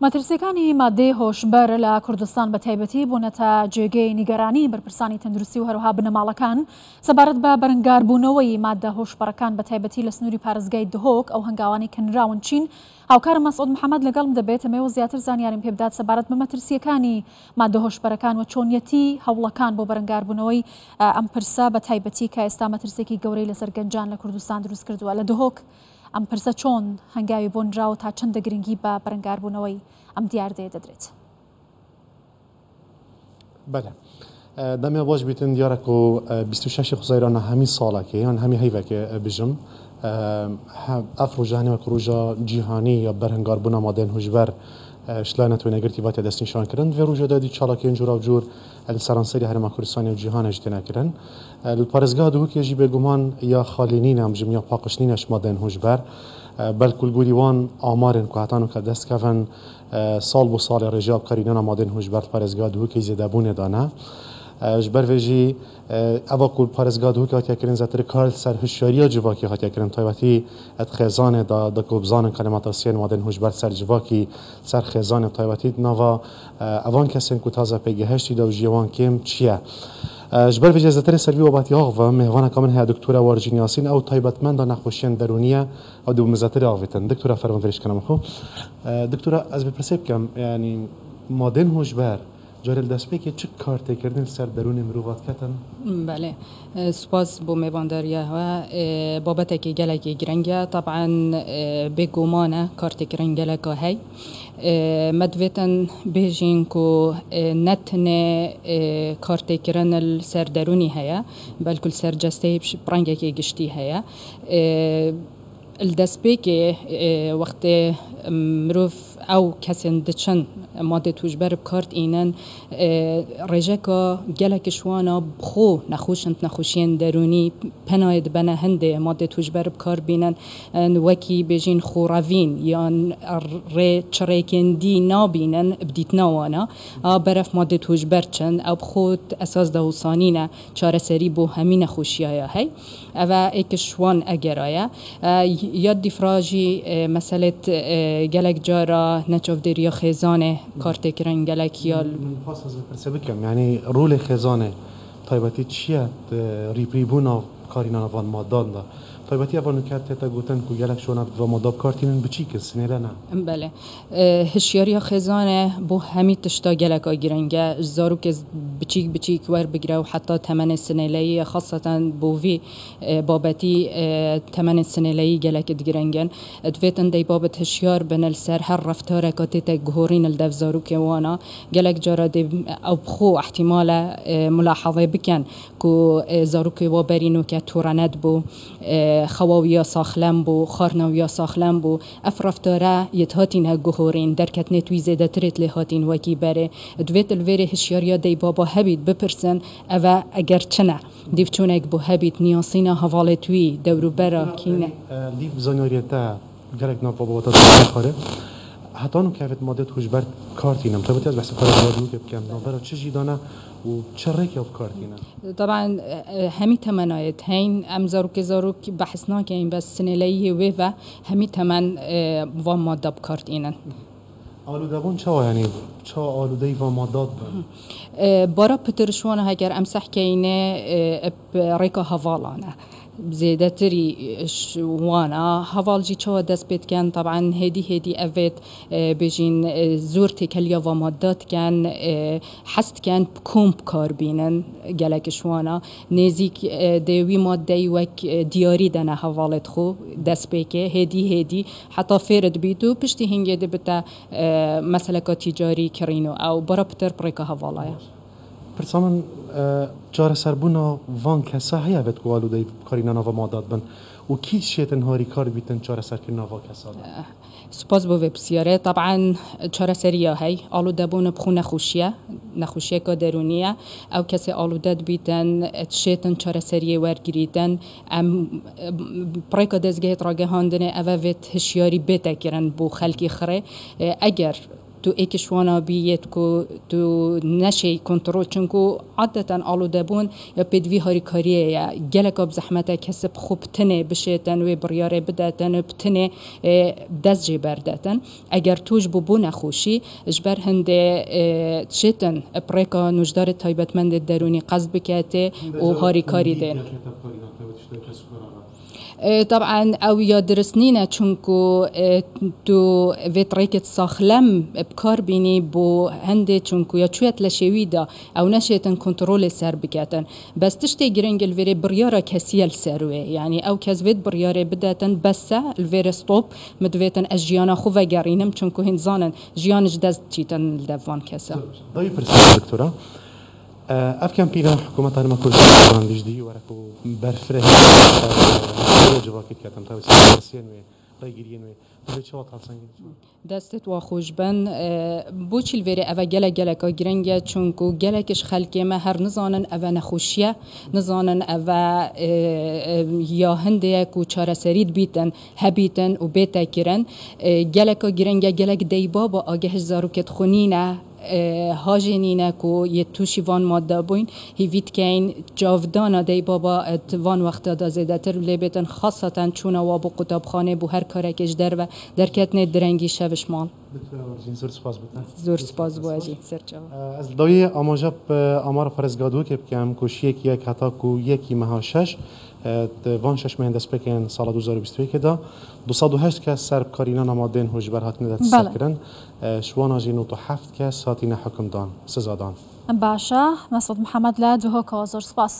مەترسیەکانی ماددەی هۆشبەر لە کوردستان بە تایبەتی بوونەتە جێگەی نیگەرانی بەرپرسانی تەندروستی و هەروەها بنەماڵەکان سەبارەت بە بەرەنگاربوونەوەی ماددە هۆشبەرەکان بە تایبەتی لە سنووری پارێزگای دهۆک ئەو هەنگاوانەی کە نراون چین؟ هاوکارم مەسعود محەمەد لەگەڵم دەبێت ئەمەوێ زیاتر زانیاریم پێ بدات سەبارەت بە مەترسیەکانی ماددە هۆشبەرەکان و چۆنیەتی هەوڵەکان بۆ بەرەنگاربوونەوەی ئەم پرسە بە تایبەتی کە ئێستا مەترسیەکی گەورەی لەسەر گەنجان لە کوردستان دروست کردووە لە دهۆک ئەم پرسە چۆن هەنگاوی بۆ نراوە تا چەندە گرنگی بە بەرەنگاربوونەوەی ئەم دیاردەیە دەدرێت؟ بەلێ دەمێ باش بیتن دیارە کو 26 خزەیرانە هەمی ساڵەکێ یان هەمی هەیڤەکێ بژم ئەف ڕۆژە هەنێ وەک ڕۆژە جیهانی یا بەرهنگاربوونا مادەێن هوشبەر شلا نەتەوە نەگرتی ڤاتیە دەستنیشان کردن ڤێ ڕۆژە دادی چالاکیێن جوراوجور li seranserî Herêma Kurdistanê û cîhanê jî têne kirin. Li parêzgeha Duhokê jî bêguman ya xalî nîne em bijim ya paqiş nîne ji madeyên hûşber. Belku li gorî wan amarên ku heta nûke dest dikevin sal bo salê rêjeya bikarînana madeyên hûşber li parêzgeha Duhokê zêdebûnê de ne. Ji ber vê jî eva ku li parêzgeha Duhokê hatiye kirin zêdetir kar li ser hişyariya civakî hatiye kirin taybetî di xêzanê de da ku bizanin ka li metirsiyên madeyên hûşber li ser civakî li ser xêzanê taybetî di nava Evan kesên ku taze pêgihiştî de û jiyê wan kêm çi ye? Ji ber vê jî ez li terê ser vî webatî axivim. Mêvaneka min heye Doktora Warjîn Yasîn ew taybetmenda nexweşiyên derûnî ye ew dê bi min zetirê avêtin. Doktora ferman vêrê ji kena min xwe. Doktora ez bi pirsê bikim yanî madên hojber carê li destpêkê çi kar têkirinê li ser derûnê mirova diketin? Belê. Spas bo mêvandariya we. Babetekê gelekî girîng e. Teb'en bêguman e kar têkirin geleka hey. Me divêtin bêjîn ku ne tenê kartêkirin li ser derûnî heye, belku li ser cesteyê bi rengekê giştî heye. Li destpêkê wextê mirov ew kesên diçin madê tûjber bi kar tînin, rêjeka gelek ji wan a bi xwe nexweş in, nexweşiyên derûnî penayê dibene hindê madê tûjber bi kar bînin. Wekî bêjîn xwe revîn yan rê çirêkên dî nabînin bi dîtina wan a beref madê tûjber çin ew bi xwe esas de wisa nîne çareserî bo hemî nexweşiyaya hey. Ev e êk ji wan egera ye. Ya dîfra jî meselêt gelek cara neçavdêriya xêzanê kar tê kirin gelek ya. Min xwest ez vê pirsê bikim yanî rolê xêzanê taybetî çi ye di rîprîbûna karînana van madan de? Taybetî eva nûke tête gotin ku gelek şona bi va mada bi kar tînin biçîk in, sinêle ne. Belê. Hişyariya xêzanê bo hemî tişta geleka giring e. Ji zarokê biçîk biçîk werbigire û heta temenê sinêleyî ye, xaseten bo vî babetî temenê sinêleyî gelek digiring in. Divêtin deybabet hişyar bin li ser her reftareka tête guhorîn li dev zarokê wan a. Gelek cara dê ew bi xwe îhtîmal e mulahazê bikin ku zarokê wa berî nûke tûre nedibû, xewa wî ya saxlem bû, xwarina wî ya saxlem bû. Ev reftare yê dihatîne guhorîn, derketinê wî zêdetirê lê hatîn wekî berê. Divê tu li vêrê hişyariya dey baba hebît bipirsin ev e eger çi ne? Dîvçûnek bû hebît niyasîna hevalê wî, dewrûbera kî ne? Dîv zanyariyê te gelek nav baba te dixwe xwarê. Heta nû kevit madê tu ji ber kar tînim. Taybetî ez behsa karê radyoyê bikim. Navbera çi jî dane û çi rêkê bi kar tînin? Taban hemî temenayê heyn em zarokê zarok behs nakeyn bes sinêleyiyê wê ve hemî temen van madda bi kar tînin. Alûdebûn çawa yanî çawa alûdeyî van madda dibin? Bara pitir ji wan heger em seh keynê bi rêka hevalan e. Zêdetirî wan a heval jî çawa dest pê dikin taban hêdî hêdî evêt bêjîn zor têkeliya va madda dikin hez dikin bi kom bi kar bînin gelek ji wan a nêzîk dê wî maddeyî wek diyarî dene hevalê xwe dest pêkê hêdî hêdî heta fêr dibît û piştî hingê dibite meseleka tîcarî kirîn û ew bara pitir bi rêka hevala ye. Pirsa min çareserbûna van kesa heye vet ku alûdeyî bikarîna nava madda dibin û kî şêtin harîkar bîtin çareserkirina va kesa de? Spas bo vê pirsiyarê. Taban çareseriya hey alûdebûn bi xwe nexweşî ye, nexweşiyeka derûnî ye. Ew kesê alûde dibîtin, şêtin çareseriyê wergirîtin. Em bi rêka dezgehê ragihandinê ev e vê hişyarî bête kirin bo xelkê xirê. Eger تو ئێکش وانا بی یێت کو تو نەشێی کۆنتڕۆل چونکو عادەتەن ئاڵودەبوون یا پێدڤی هاریکاریێ یە گەلەکا بزەحمەتە کەس بخو بتنێ بشێتن وێ بڕیارێ بدەتن و بتنێ دەست جێ بەردەتن ئەگەر توش بوو بۆ نەخۆشی ژبەر هندێ شێتن پڕێکا نوژدارێ تایبەتمەندێ دەروونی قەست بکەتێ و هاریکاری دێ. تەبعەن ئەو یا درست نینە چونکو تو ڤێت ڕێکت ساخلەم بکار بینی بۆ هەندێ چونکو یا چویەت لە شێویدا ئەو نەشێتن کۆنتڕۆلێ سەر بکەتن بەس تشتێ گرنگ الڤێرێ بڕیارا کەسیە لسەروێ یانی ئەو کەس ڤێت بڕیارێ بدەتن بەسە الڤێرێ ستۆپ مدڤێتن ئەژ ژیانا خو ڤەگەڕینم چونکو هین زانن ژیانش دەست چیتن لدەڤ ڤان کەسە. داوی پرسیار دکتۆرا ئەڤ کەمپینە حکوومەت هەرێما کوردستان دیژدی وەرە کو بەرفرەهی جڤاکی دکەتن تاوی سەرپەرسیەن وێ ڕێگیریەن وێ دەبێ چەوا تاڵسەنگی چۆن؟ دەستت وا خۆش بن. بۆچی لڤێرێ ئەڤە گەلەک گەلەکا گرنگە چونکو گەلەکش خەلکێ مە هەر نزانن ئەڤە نەخۆشیە نزانن ئەڤە یا هندەیە کو چارەسەریت بیتن هەبیتن و بێتە کرن گەلەکا گرنگە گەلەک دەیبابا ئاگەهش زاروکێت خو نینە هاژێ نینە کو یێ تووشی ڤان مادە بووین هیڤی دکەین جاڤدانا دەی بابا ت ڤان وەختا دا زێدەتر لێ بێتن خاسەتەن چوونە وا بۆ قوتابخانێ بۆ هەر کارەکێش دەرڤە دەرکەتنێ درەنگی شەڤش ماڵ. دکتۆرە وەرزین زۆر سپاس بۆ تە. زۆر سپاس بۆ ئەژی سەرچاوە. ئەز لە داویێ ئاماژە ب ئامارە پارێزگا دهۆکێ بکەم کو شیەک یەک هەتاکو یەکی مەها شەش د ڤان شەش مەهێن دەستپێکێن ساڵا 2021 دا 208 کەس سەر بکارینانا مادەێن هۆشبەر هاتنە دەستسەر کرن. شوانا ژی 97 کەس هاتینە حوکمدان، سزادان. باشە مەسعود محەمەد لە دهۆکەوە زۆر سوپاس.